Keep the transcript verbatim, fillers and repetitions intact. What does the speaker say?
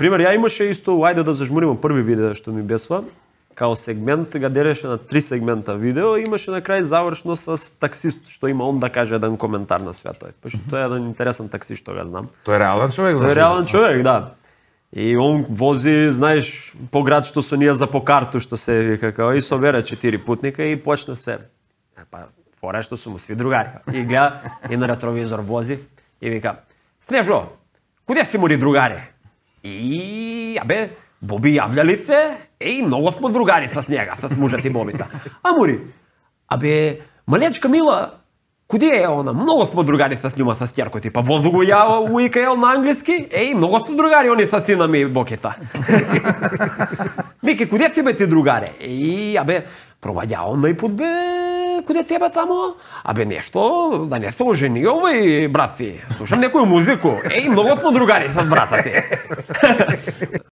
пример, ја имаше исто, ајде да зажмуриме први видео што ми бесва, као сегмент ga делеше на три сегмента видео, имаше на крај завршно с таксист, што има он да каже еден коментар на свето. Пошто тоа е еден интересен таксист што го знам. Тој е реален човек, Тој е реален човек, да. И он вози, знаеш, по град што со ние за по карту што се вика, као и собере четири путника и почне се. Па фора што су му сви другари. И гледа и на ретровизор вози и вика: "Снежо, куде си мори другари?" И абе, Боби јавља ли се? Еј, многу сме другари с njega, с мужот и Бобита. А мори, абе, малечка Мила, куде е она? Многу сме другари с њума, с ќерко ти. Па возу го ја у И К Л на англиски? Еј, многу сме другари они с сина ми Бокита. Вики, куде си бе ти другаре? Еј, абе, проваѓа онај пут бе, куде ти бе тамо? Абе, нешто, да не се ожени овој брат си. Слушам некој музику. Еј, многу сме другари с брата ти.